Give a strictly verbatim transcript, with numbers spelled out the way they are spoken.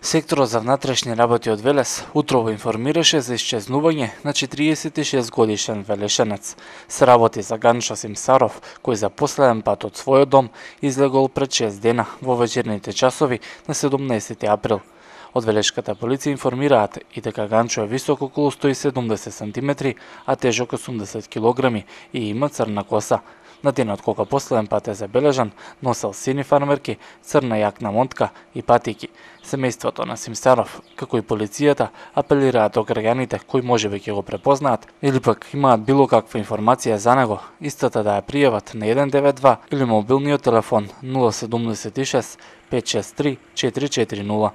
Секторот за внатрешни работи од Велес утрово информираше за исчезнување на четириесет и шест годишен велешенец. Се работи за Ганчо Симсаров, кој за последен пат од својот дом излегол пред шест дена во вечерните часови на седумнаесети април. Од велешката полиција информираат и дека Ганчо е висок околу сто и седумдесет сантиметри, а тежок осумдесет килограми и има црна коса. На денот кога последен пат е забележан, носел сини фармерки, црна јакна монтка и патики. Семејството на Симсаров, како и полицијата, апелираат до граѓаните кои можеби ќе го препознаат или пак имаат било каква информација за него, истата да ја пријават на еден девет два или мобилниот телефон нула седумдесет и шест пет шест три четири четири нула.